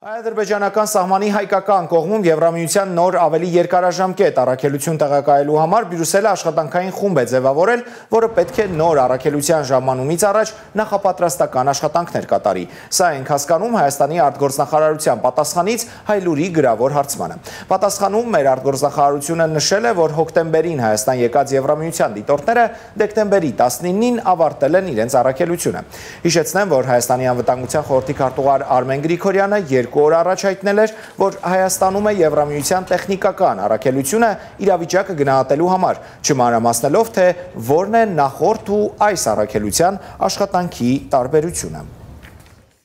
Հայ-ադրբեջանական սահմանի հայկական կողմում Եվրամիության նոր ավելի երկարաժամկետ առաքելություն տեղակայելու համար Բրյուսելը աշխատանքային խումբ է ձևավորել, որը պետք է նոր առաքելության ժամանումից առաջ նախապատրաստական աշխատանքներ կատարի։ Սա ենք հասկանում Հայաստանի արտգործնախարարության պատասխանից Հայլուրի գրավոր հարցմանը։ Պատասխանում մեր արտգործնախարարությունը նշել է, որ հոկտեմբերին Հայաստան եկած Եվրամիության դիտորդները դեկտեմբերի 19-ին ավարտել են իրենց առաքելությունը։ Հիշեցնեմ, որ Հայաստանի անվտանգության խորհրդի քարտուղար Արմեն Գրիգորյանը 2 օր առաջ հայտնել էր, որ Հայաստանում է Եվրամիության տեխնիկական առաքելությունը իրավիճակը գնահատելու համար, չմանրամասնելով, թե որն է նախորդ ու այս առաքելության աշխատանքի տարբերությունը։